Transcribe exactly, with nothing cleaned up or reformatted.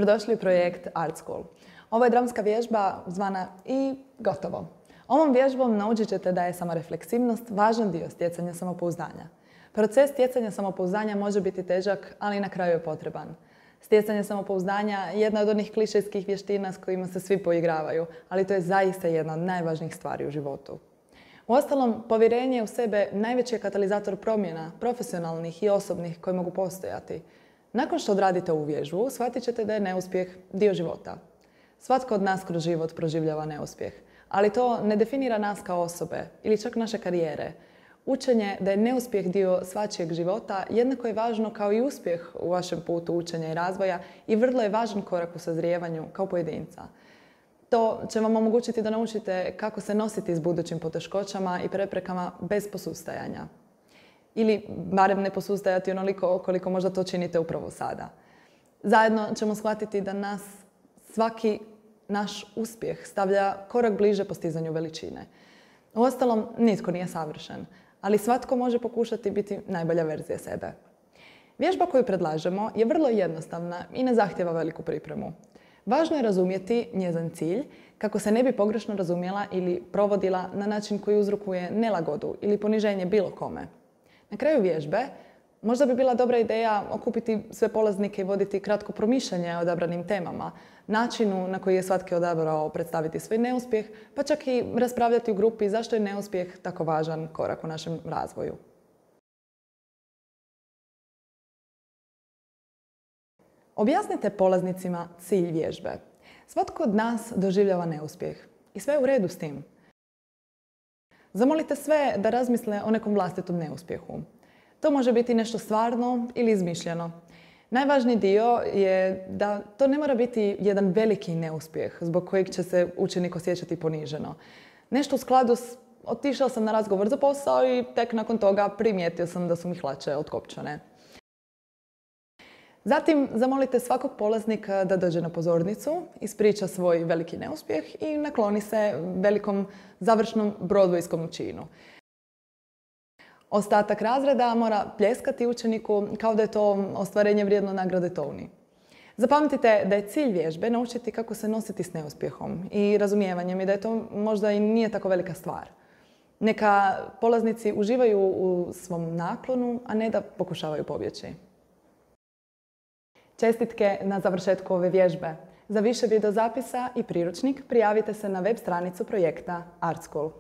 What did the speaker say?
Dobrodošli u projekt Art School. Ovo je dramska vježba zvana i gotovo. Ovom vježbom naučit ćete da je samorefleksivnost važan dio stjecanja samopouzdanja. Proces stjecanja samopouzdanja može biti težak, ali na kraju je potreban. Stjecanje samopouzdanja je jedna od onih klišejskih vještina s kojima se svi poigravaju, ali to je zaista jedna od najvažnijih stvari u životu. Uostalom, povjerenje u sebe najveći je katalizator promjena, profesionalnih i osobnih koje mogu postojati. Nakon što odradite ovu vježbu, shvatit ćete da je neuspjeh dio života. Svatko od nas kroz život proživljava neuspjeh, ali to ne definira nas kao osobe ili čak naše karijere. Učenje da je neuspjeh dio svačijeg života jednako je važno kao i uspjeh u vašem putu učenja i razvoja i vrlo je važan korak u sazrijevanju kao pojedinca. To će vam omogućiti da naučite kako se nositi s budućim poteškoćama i preprekama bez posustajanja. Ili barem ne posustajati onoliko koliko možda to činite upravo sada. Zajedno ćemo shvatiti da nas svaki naš uspjeh stavlja korak bliže postizanju veličine. Uostalom, nitko nije savršen, ali svatko može pokušati biti najbolja verzija sebe. Vježba koju predlažemo je vrlo jednostavna i ne zahtjeva veliku pripremu. Važno je razumjeti njezin cilj kako se ne bi pogrešno razumjela ili provodila na način koji uzrokuje nelagodu ili poniženje bilo kome. Na kraju vježbe možda bi bila dobra ideja okupiti sve polaznike i voditi kratko promišljanje o odabranim temama, načinu na koji je svatko odabrao predstaviti svoj neuspjeh, pa čak i raspravljati u grupi zašto je neuspjeh tako važan korak u našem razvoju. Objasnite polaznicima cilj vježbe. Svatko od nas doživljava neuspjeh i sve je u redu s tim. Zamolite sve da razmisle o nekom vlastitom neuspjehu. To može biti nešto stvarno ili izmišljeno. Najvažniji dio je da to ne mora biti jedan veliki neuspjeh zbog kojeg će se učenik osjećati poniženo. Nešto u skladu s otišao sam na razgovor za posao i tek nakon toga primijetio sam da su mi hlače otkopčane. Zatim zamolite svakog polaznika da dođe na pozornicu, ispriča svoj veliki neuspjeh i nakloni se velikom završnom broadwayskom činu. Ostatak razreda mora pljeskati učeniku kao da je to ostvarenje vrijedno nagrade Tony. Zapamtite da je cilj vježbe naučiti kako se nositi s neuspjehom i razumijevanjem i da je to možda i nije tako velika stvar. Neka polaznici uživaju u svom naklonu, a ne da pokušavaju pobjeći. Čestitke na završetku ove vježbe. Za više videozapisa i priručnik prijavite se na web stranicu projekta Art School.